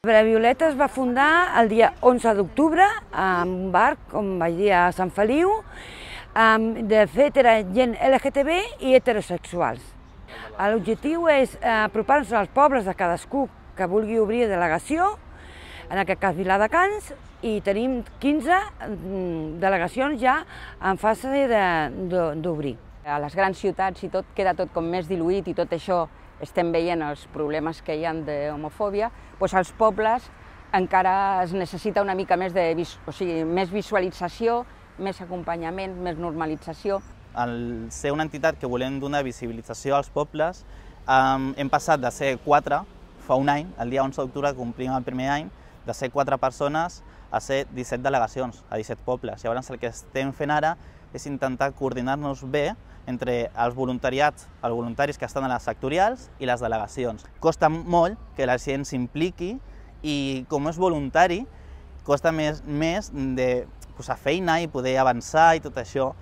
La Violeta es va fundar el dia 11 d'octubre en un bar, com vaig dir, a Sant Feliu. De fet, era gent LGTB i heterosexuals. L'objectiu és apropar-nos als pobles de cadascú que vulgui obrir delegació, en aquest cas Viladecans, i tenim 15 delegacions ja en fase d'obrir. A les grans ciutats i tot queda tot com més diluït i tot això estem veient els problemes que hi ha d'homofòbia, doncs als pobles encara es necessita una mica més més visualització, més acompanyament, més normalització. Al ser una entitat que volem donar visibilització als pobles, hem passat de ser 4 fa un any, el dia 11 d'octubre complim el primer any, de ser 4 persones a ser 17 delegacions, a 17 pobles. Llavors el que estem fent ara és intentar coordinar-nos bé entre els voluntaris que estan a les sectorials i les delegacions. Costa molt que la gent s'impliqui i com és voluntari costa més de posar feina i poder avançar i tot això.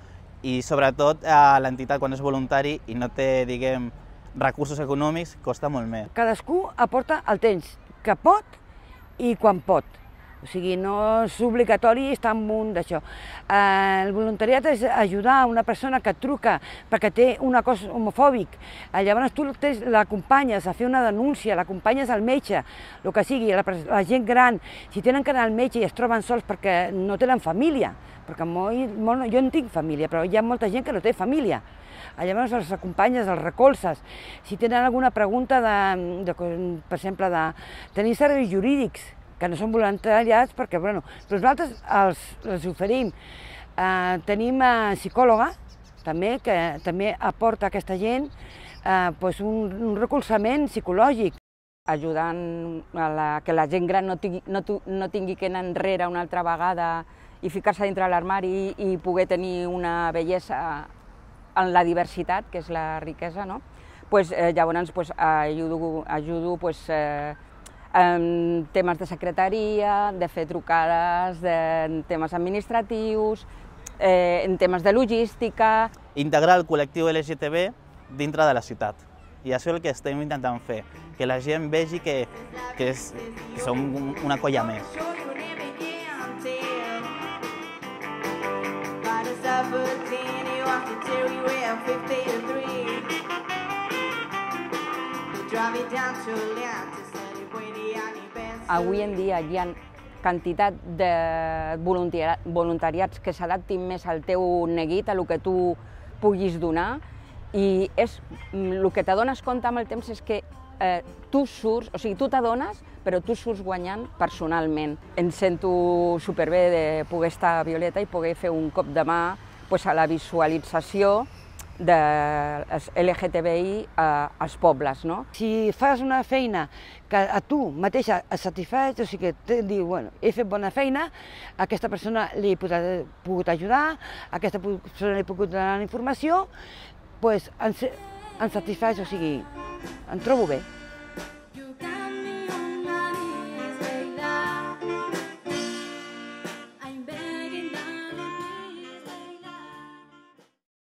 I sobretot l'entitat quan és voluntari i no té, diguem, recursos econòmics, costa molt més. Cadascú aporta el temps que pot i quan pot. O sigui, no és obligatori estar en un d'això. El voluntariat és ajudar a una persona que et truca perquè té un cos homofòbic. Llavors tu l'acompanyes a fer una denúncia, l'acompanyes al metge, el que sigui, la gent gran, si tenen que anar al metge i es troben sols perquè no tenen família, perquè jo no tinc família, però hi ha molta gent que no té família. Llavors els acompanyes, els recolzes. Si tenen alguna pregunta, per exemple, de tenir serveis jurídics, que no són voluntariats, perquè nosaltres els oferim. Tenim psicòloga, també, que també aporta a aquesta gent un recolzament psicològic. Ajudant que la gent gran no tingui que anar enrere una altra vegada i ficar-se dintre l'armari i poder tenir una bellesa en la diversitat, que és la riquesa, no? Llavors ajudo en temes de secretaria, de fer trucades, en temes administratius, en temes de logística. Integrar el col·lectiu LGTB dintre de la ciutat. I això és el que estem intentant fer, que la gent vegi que som una colla més. Avui en dia hi ha quantitat de voluntariats que s'adaptin més al teu neguit, a el que tu puguis donar, i el que t'adones compte amb el temps és que tu surts, o sigui, tu t'adones, però tu surts guanyant personalment. Em sento superbé de poder estar a Violeta i poder fer un cop de mà a la visualització de LGTBI als pobles. Si fas una feina que a tu mateixa et satisfeix, o sigui que dius, bueno, he fet bona feina, a aquesta persona li he pogut ajudar, a aquesta persona li he pogut donar informació, doncs em satisfeix, o sigui, em trobo bé.